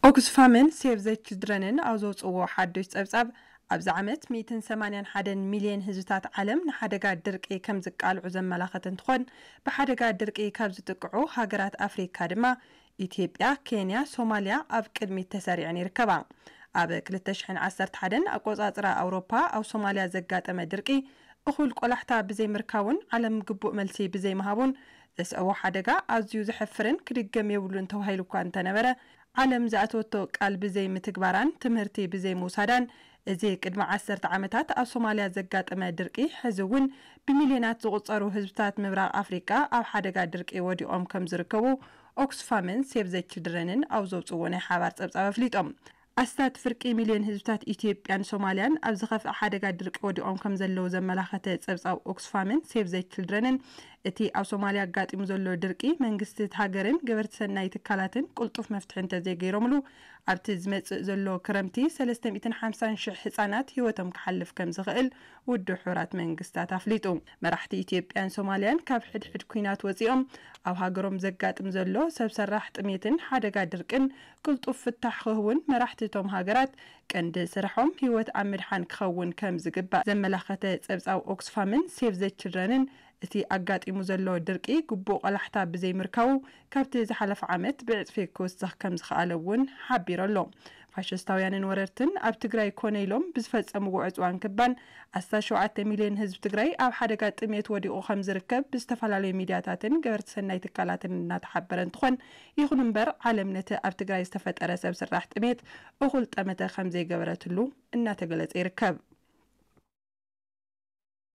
ኦክስፋምን ሴቭ ዘ ችልድረንን ኣብ ዘውፅዎ ሓዱሽ ፀብፃብ፣ ኣብዚ ዓመት ሚእትን ሰማንያን ሓደን ሚልዮን ህዝብታት ዓለም ንሓደጋ ድርቂ ከም ዝቃልዑ ዘመላኸተ እንትኾን፣ ብሓደጋ ድርቂ ካብ ዝጥቅዑ ሃገራት ኣፍሪካ ድማ ኢትዮጵያ፣ ኬንያ፣ ሶማልያ ኣብ ቅድሚት ተሰሪዐን ይርከባ። ኣብ ክልተ ሽሕን ዓሰርተ ሓደን ኣቆፃፅራ ኣውሮፓ ኣብ ሶማልያ ዘጋጠመ ድርቂ እኹል ቆላሕታ ብዘይምርካቡን ዓለም ግቡእ መልሲ ብዘይምሃቡን ዘስዐቦ ሓደጋ ኣዝዩ ዘሕፍርን ክድገም የብሉን ተባሂሉ እኳ እንተነበረ፣ ዓለም ዝኣተወቶ ቃል ብዘይምትግባራን ትምህርቲ ብዘይምውሳዳን፣ እዚ ቅድሚ ዓሰርተ ዓመታት ኣብ ሶማልያ ዘጋጠመ ድርቂ ሕዚ እውን ብሚልዮናት ዝቑጸሩ ህዝብታት ምብራቕ ኣፍሪቃ ኣብ ሓደጋ ድርቂ ወዲቖም ከም ዝርከቡ ኦክስፋምን ሴቭ ዘ ችልድረንን ኣብ ዘውፅዎ ናይ ሓባር ጸብጻብ ኣፍሊጦም። ኣስታት ፍርቂ ሚልዮን ህዝብታት ኢትዮጵያን ሶማልያን ኣብ ዝኸፍአ ሓደጋ ድርቂ ወዲቖም ከም ዘለዉ ዘመላኸተ ጸብጻብ ኦክስፋምን ሴቭ ዘ ችልድረንን፣ እቲ ኣብ ሶማልያ ኣጋጢሙ ዘሎ ድርቂ መንግስቲ እቲ ሃገርን ገበርቲ ሰናይ ትካላትን ቅልጡፍ መፍትሒ እንተዘይገይሮምሉ፣ ኣብቲ ዝመጽእ ዘሎ ክረምቲ ሰለስተ ሚእትን ሓምሳን ሽሕ ህጻናት ህይወቶም ክሓልፍ ከም ዝኽእል ውድብ ሕቡራት መንግስታት ኣፍሊጡ። መራሕቲ ኢትዮጵያን ሶማልያን ካብ ሕድሕድ ኲናት ወጺኦም ኣብ ሃገሮም ዘጋጥም ዘሎ ሰብ ሰራሕ ጥሜትን ሓደጋ ድርቅን ቅልጡፍ ፍታሕ ክህቡን መራሕቲ እቶም ሃገራት ቀንዲ ስርሖም ህይወት ኣብ ምድሓን ክኸውን ከም ዝግባእ ዘመላኸተ ጸብጻብ ኦክስፋምን ሴቭ ዘ ችልድረንን፣ እቲ ኣጋጢሙ ዘሎ ድርቂ ግቡእ ቆላሕታ ብዘይምርካቡ ካብቲ ዝሓለፈ ዓመት ብዕጽፊ ክውስኽ ከም ዝኸኣለ እውን ሓቢሩ ኣሎ። ፋሽስታውያንን ወረርትን ኣብ ትግራይ ኮነ ኢሎም ብዝፈጸምዎ ዕጽዋን ክባን ኣስታት ሸውዓተ ሚልዮን ህዝቢ ትግራይ ኣብ ሓደጋ ጥሜት ወዲቑ ከም ዝርከብ ብዝተፈላለዩ ሚድያታትን ገበርቲ ሰናይ ትካላትን እናተሓበረ እንትኾን፣ ይኹን እምበር ዓለም ነቲ ኣብ ትግራይ ዝተፈጠረ ሰብ ስራሕ ጥሜት እኹል ጠመተ ከም ዘይገበረትሉ እናተገለጸ ይርከብ።